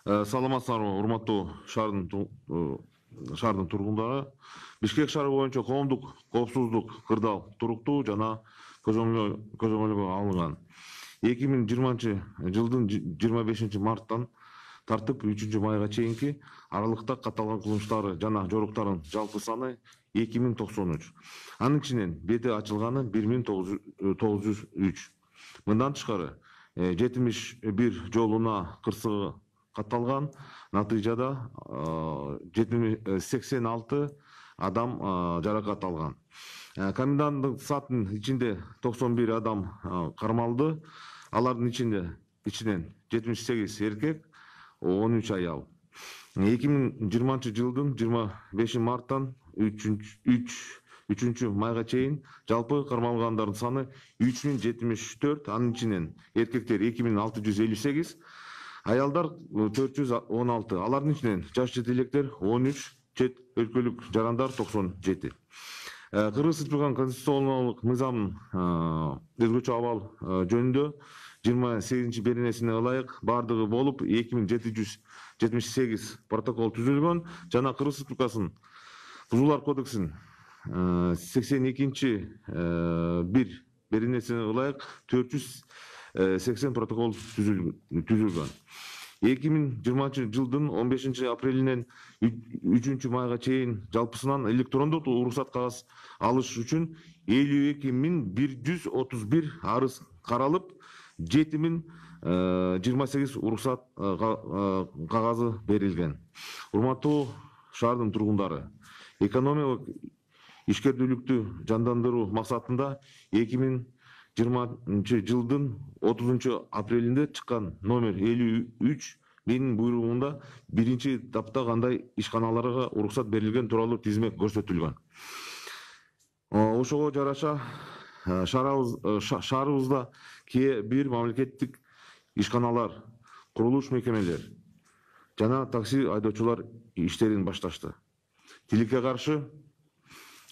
Саламатсыздарбы, урматтуу шаардын тургундары. Бишкек шаары боюнча коомдук коопсуздук кырдаал туруктуу жана көзөмөлгө алынган. 2020-жылдын 25-марттан тартып 3-майга чейинки аралыкта катталган кылмыштары жана жоруктардын жалпы саны 2093. Анын ичинен бети ачылганы 1903. Мындан тышкары 71 жолуна кырсыгы катталган. Натыйжада 86 адам жаракат алган. Коменданттык сааттын ичинде 91 адам кармалды. Алардын ичинен 78 эркек, 13 аял. 2020-жылдын 25-марттан 3-майга чейин жалпы кармалгандардын саны 3074, анын ичинен эркектер 2658, аялдар 416, алардын ичинен жаш чет электер 13, чет өлкөлүк жарандар 97. Кыргыз Республикасынын конституционалдык мыйзамынын өзгөчө абал жөнүндө 28 беренесине ылайык бардыгы болуп 2778 протокол түзүлгөн жана Кыргыз Республикасынын Бузуулар кодексинин 82-1 беренесине ылайык 480 протокол түзүлгөн. 2020-жылдын 15-апрелинен 3-майга чейин жалпысынан электрондук уруксат кагаз алыш үчүн 52131 арыз каралып, 7028 уруксат кагазы берилген. Урматтуу шаардын тургундары, экономиялык ишкердүүлүктү жандандыруу максатында 2020-жылдын 30-апрелинде чыккан номер 53 менин буйругунда биринчи тапта кандай ишканаларга уруксат берилген тууралуу тизме көрсөтүлгөн. Ошого жараша шаарыбызда кээ бир мамлекеттик ишканалар, курулуш мекемелер жана такси айдоочулар иштерин башташты. Тилекке каршы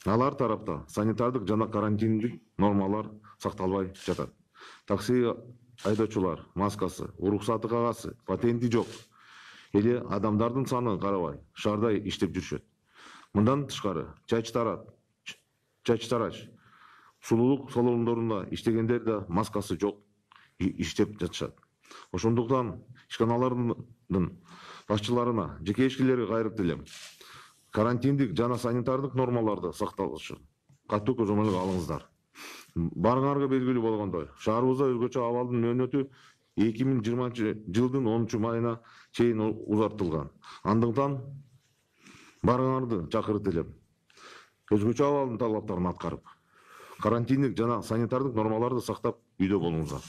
алар тарапта санитардык жана карантиндик нормалар сакталбай жатат. Такси айдоочулар маскасы, уруксаты кагазы, патенти жок эле адамдардын саны карабай шаарда иштеп жүрүшөт. Мындан тышкары чач-тарач, сулуулук салондорунда иштегендер да маскасы жок иштеп жатышат. Ошондуктан ишканалардын башчыларына, жеке ишкерлерге кайрып элем. Карантиндик жана санитардык нормаларды сакталышы катуу көзөмөлгө алыңыздар. Барыңарга белгилүү болгондой, шаарыбызда өзгөчө абалдын мөөнөтү 2020-жылдын 10-майына чейин узартылган. Андыктан барыңарды чакырып элем. Өзгөчө абалдын талаптарын аткарып, карантиндик жана санитардык нормаларды сактап үйдө болуңуздар.